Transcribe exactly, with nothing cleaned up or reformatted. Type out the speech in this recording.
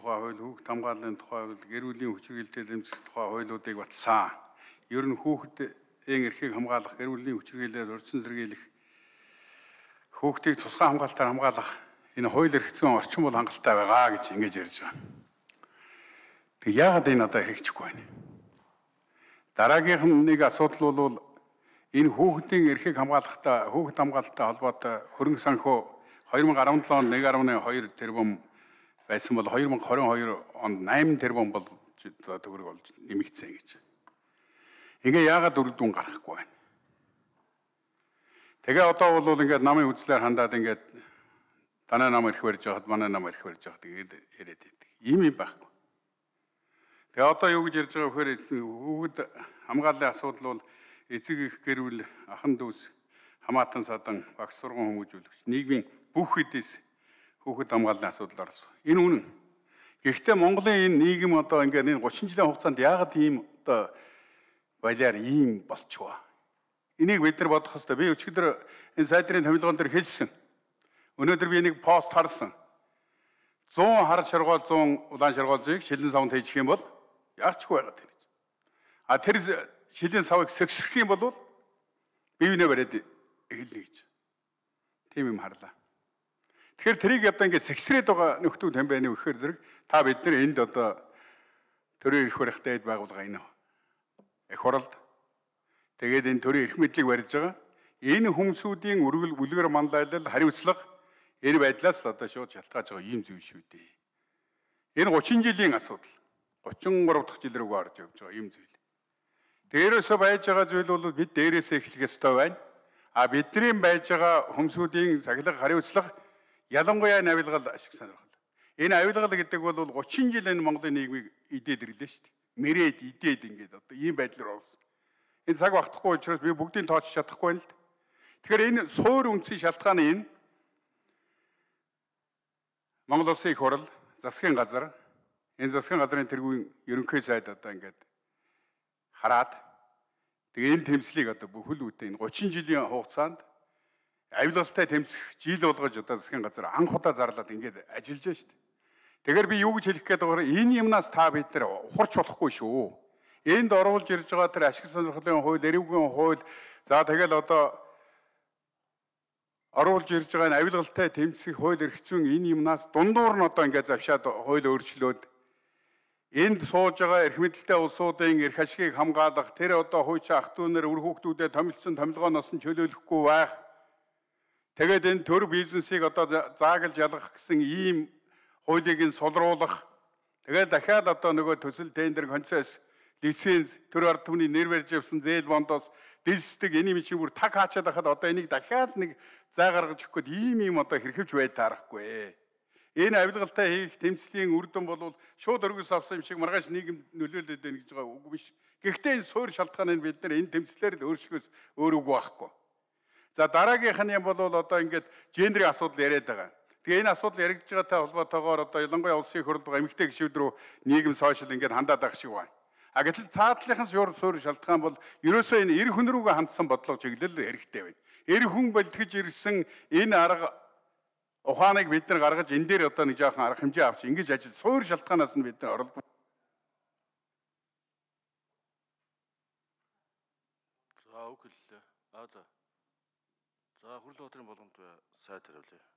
тухай хууль, хүүхэд хамгааллын тухай хууль, гэр бүлийн хүч хэрэглэлтэд эмзэх тухай хуулиудыг батлсан. Ер нь хүүхдийн эрхийг хамгаалах, гэр бүлийн хүч хэрэглэлээр урьдчилан сэргийлэх, хүүхдийг тусгай хамгаалтаар хамгаалах энэ хууль эрх зүйн орчин бол хангалттай байгаа гэж ингэж ярьж байгаа. Тэг яагаад энэ одоо хэрэгжихгүй байна? Дараагийнх нь нэг асуудал бол энэ хүүхдийн эрхийг хамгаалахтаа, хүүхэд хамгаалалттай холбоотой хөрөнгө санхүү хоёр мың арван долоо онд нэг гаруй хоёр тэрбум байсан бол хоёр мың хорин хоёр онд найман тэрбум бол төгрөг болж нэмэгдсэн гэж. Ингээ яагаад үр дүн гарахгүй байна? Тэгээ одоо бол ингээд намын үзлээр хандаад ингээд танай нам ирэх барьж байхад манай нам ирэх барьж байхад тэгээд яриад байдаг. Ийм юм байхгүй. Тэгээ одоо юу гэж ярьж байгаа вэхээр хүүхэд хамгааллын асуудал бол эцэг их гэр бүл, ахан дүүс, хамаатан садан, багш сургууль хүмүүжүүлэгч нийгмийн бүх хэдээс хүүхэд хамгааллын асуудал орсон. Энэ үнэн. Гэхдээ Монголын энэ нийгэм одоо ингээд энэ гучин жилийн хугацаанд яагаад ийм одоо балиар ийм болчихваа? Энийг бид нар бодох хэрэгтэй. Би өчигдөр энэ сайдрын томилгоон дээр хэлсэн. Өнөөдөр би нэг пост харсан. зуун хар шаргуул, зуун улаан шаргуулжийг шилэн савнд хийчих юм бол яарчгүй байгаад байна. А тэр шилэн савыг сэгсрэх юм бол бивнээ бариад эхэлнэ гэж. Тийм юм харлаа. Тэгэхээр тэрийг одоо ингээд сэгсрээд байгаа нөхдүүд хэн байна вэ гэхээр зэрэг та бид нар энд одоо төрийн эрх барихтай байгууллага энэ эх оролд тэгээд энэ төрийн эрх мэдлийг барьж байгаа. Энэ хүмүүсийн үргэл бүлгэр манлайлал хариуцлага энэ байдлаас л одоо шууд шалтгааж байгаа юм зүйл шүү дээ. Энэ гучин жилийн асуудал. гучин гурав дахь жил рүүгээ орж явж байгаа юм зүйл. Дээрээсээ байж байгаа зүйл бол бид дээрээсээ эхлэх ёстой байна. А бидний байж байгаа хүмүүсийн сахилга хариуцлага ялангуяа энэ авилгал ашиг сонирхол. Энэ авилгал гэдэг бол гучин жил энэ Монголын нийгмийг идээд ирлээ шүү дээ. Мэрээд идээд ингээд одоо ийм байдлаар орсон. Энэ цаг багтахгүй учраас би бүгдийг тооч чадахгүй байна л. Тэгэхээр энэ суур үндсийн шалтгаан нь энэ Монгол Улсын их хурл, засгийн газар, энэ засгийн газрын тэргүүн ерөнхий сайд одоо ингээд хараад тэгээ энэ тэмцлийг одоо бүхэл үедээ энэ гучин жилийн хугацаанд авилгалтай тэмцэх жил болгож одоо засгийн газар анх удаа зарлаад ингээд ажиллаж байна шүү дээ. Тэгэхээр би юу гэж хэлэх гээд байгаа вэ? Энэ юмнаас та бид нар ухарч болохгүй шүү. Энд оруулж ирж байгаа тэр ашиг сонирхлын хууль, эрүүгийн хууль, за тэгэл одоо оруулж ирж байгаа энэ авилгалтай тэмцэх хууль эрх зүйн энэ юмнаас дундуур нь одоо ингээд завшаад хууль өөрчлөөд энд сууж байгаа эрх мэдэлтэй улсуудын эрх ашигыг хамгаалах, тэр одоо хуучин ах дүүнэр үр хүүхдүүдэд томилсон томилгооноос нь чөлөөлөхгүй байх. Тэгээд энэ төр бизнесийг одоо заагалж ялгах гэсэн ийм хуулийг нь сулруулах. Тэгээд дахиад одоо нөгөө төсөл тендер концесс лиценз төр ард түмний нэр барьж явсан зээл бондоос дэлсдэг энэ юм чинь бүр таг хаачаад байхад одоо энийг дахиад нэг зай гаргаж өгөх гээд ийм юм одоо хэрхэвч бай таарахгүй. Энэ авилгалтай хийх тэмцлийн үр дүн бол шууд өргөс авсан юм шиг маргааш нийгэм нөлөөлөд байна гэж байгаа үг биш. Гэхдээ энэ суур шалтгааныг бид нар энэ тэмцлэр л өөрчлөхөөс өөр үг байхгүй. За дараагийнх нь юм бол одоо ингээд гендрийн асуудал яриад байгаа. Тэгээ энэ асуудал яригдж байгаатай холбоотойгоор одоо ялангуяа улсын их хурлд байгаа эмэгтэй гишүүд рүү нийгэм сошиал ингээд хандаад байх шиг байна. А гэтэл цаатлынхаас шуур суур шалтгаан бол ерөөсөө энэ эр хүн рүүгээ хандсан бодлого чиглэл хэрэгтэй байна. Эр хүн бэлтгэж ирсэн энэ арга ухааныг бид нар гаргаж энэ дээр одоо нэг жоохон арга хэмжээ авч ингэж ажил суур шалтгаанаас нь бид нар оролдох. За үг хэллээ. А за. За Хүрлбаатарын болгонд сайд хариулъя.